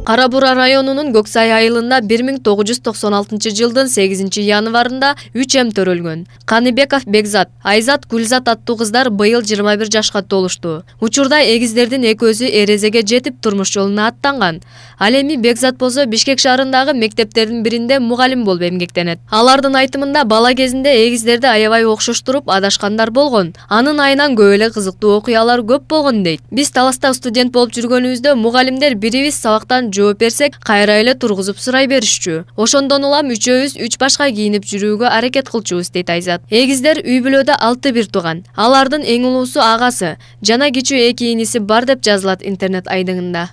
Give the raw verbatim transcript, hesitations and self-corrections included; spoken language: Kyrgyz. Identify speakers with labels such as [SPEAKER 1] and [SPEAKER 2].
[SPEAKER 1] Кара Бура районунун Көк Сай айылында бир миң тогуз жүз токсон алтынчы жылдын сегизинчи январында үч эм төрөлгөн. Каныбеков Бекзат, Айзат Гүлзат аттуу кыздар быйыл жыйырма бир жашка толушту. Учурда эгиздердин экөөсү эрезеге жетип турмуш жолуна аттанган. Ал эми Бекзат болсо Бишкек шаарындагы мектептердин биринде мугалим болуп эмгектенет. Алардын айтымында бала кезинде эгиздерди аябай окшоштуруп адашкандар болгон. Анын айынан көп эле кызыктуу окуялар көп болгон дейт. Биз Таласта студент болуп жүргөнүбүздө мугалимдер бирибиз сабактан жооп берсек, кайра эле тургузуп сурай беришчү. Ошондон улам үчөөбүз үч башка кийинип жүрүүгө аракет кылчубуз дейт Айзат. Эгиздер үй бүлөдө алты бир тууган. Алардын эң улуусу агасы жана кичүү эки иниси бар деп жазылат интернет айдыңында.